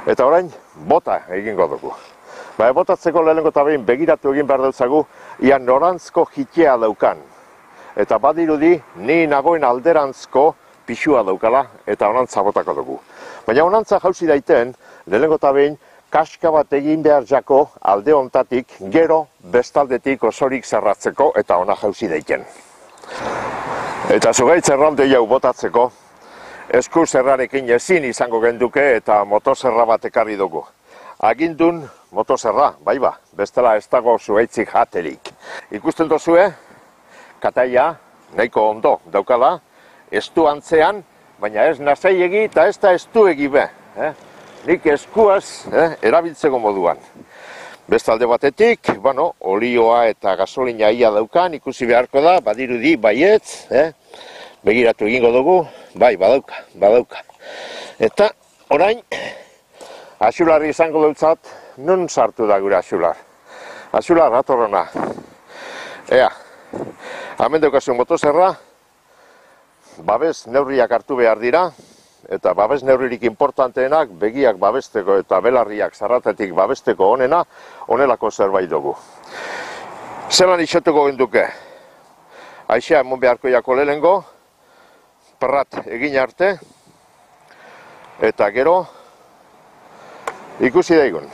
Eta orain, bota egingo dugu. Botatzeko lehenengo eta behin begiratu egin behar dutzagu, ia norantzko jitea daukan. Eta badirudi, ni nagoen alderantzko pixua daukala, eta onantza botako dugu. Baina onantza jauzi daiten, lehenengo eta behin, kaska bat egin behar jako alde hontatik, gero bestaldetik osorik zerratzeko, eta ona jauzi daiten. Eta zugaitz erralde jau botatzeko, esku zerrarekin ezin izango genduke eta motozerra bat ekarri dugu. Agindun motozerra, bai ba, bestela ez dago zugaitzik jaterik. Ikusten dozue, kataia nahiko ondo daukala, estu antzean, baina ez nasaiegi eta ez da estuegi be. Nik eskuaz erabiltzeko moduan. Bestalde batetik, olioa eta gasolina ia daukan, ikusi beharko da, badirudi baietz, begiratu egingo dugu, bai, badauka. Eta orain, axularri izango dutzat, nun sartu da gure axular. Axular, atorrona. Ea, hemen daukazu motozerra, babes neurriak hartu behar dira, eta babes neurririk importanteenak begiak babesteko eta belarriak zarratetik babesteko onena, onelako zerbait dugu. Zelan itxotuko genduke? Aixea emon beharko jako lehenengo, perrat egin arte, eta gero ikusi daigun.